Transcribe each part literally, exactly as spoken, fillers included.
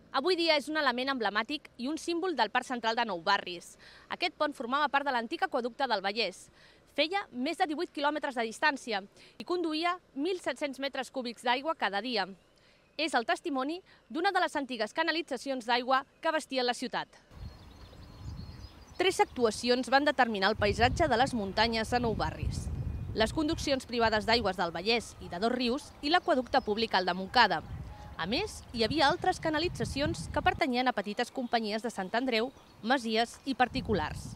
Avui dia és un element emblemàtic i un símbol del Parc Central de Nou Barris. Aquest pont formava part de l'antic aqüeducte del Vallès. Feia més de divuit quilòmetres de distància i conduïa mil set-cents metres cúbics d'aigua cada dia. És el testimoni d'una de les antigues canalitzacions d'aigua que abastien la ciutat. Tres actuacions van determinar el paisatge de les muntanyes de Nou Barris. Les conduccions privades d'aigües del Vallès i de Dos Rius i l'aqüeducte públic al de Montcada. A més, hi havia altres canalitzacions que pertanyien a petites companyies de Sant Andreu, masies i particulars.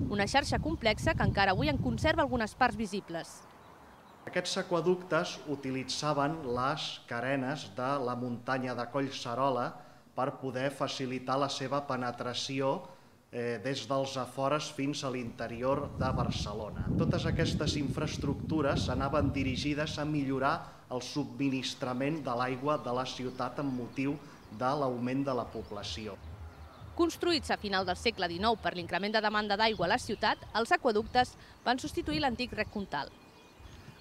Una xarxa complexa que encara avui en conserva algunes parts visibles. Aquests aqüeductes utilitzaven les carenes de la muntanya de Collserola per poder facilitar la seva penetració des dels afores fins a l'interior de Barcelona. Totes aquestes infraestructures anaven dirigides a millorar el subministrament de l'aigua de la ciutat amb motiu de l'augment de la població. Construïts a final del segle dinou per l'increment de demanda d'aigua a la ciutat, els aqüeductes van substituir l'antic rec Comtal.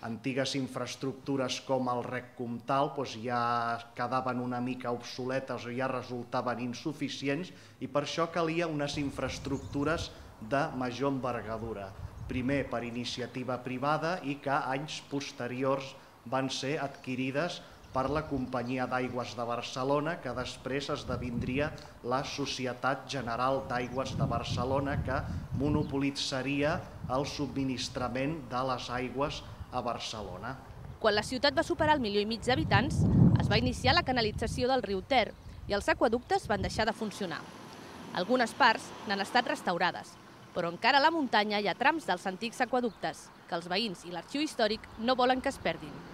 Antigues infraestructures com el rec Comtal ja quedaven una mica obsoletes o ja resultaven insuficients i per això calia unes infraestructures de major envergadura. Primer per iniciativa privada i que anys posteriors van ser adquirides per la Companyia d'Aigües de Barcelona, que després esdevindria la Societat General d'Aigües de Barcelona, que monopolitzaria el subministrament de les aigües a Barcelona. Quan la ciutat va superar el milió i mig d'habitants, es va iniciar la canalització del riu Ter i els aqüeductes van deixar de funcionar. Algunes parts n'han estat restaurades, però encara a la muntanya hi ha trams dels antics aqüeductes que els veïns i l'arxiu històric no volen que es perdin.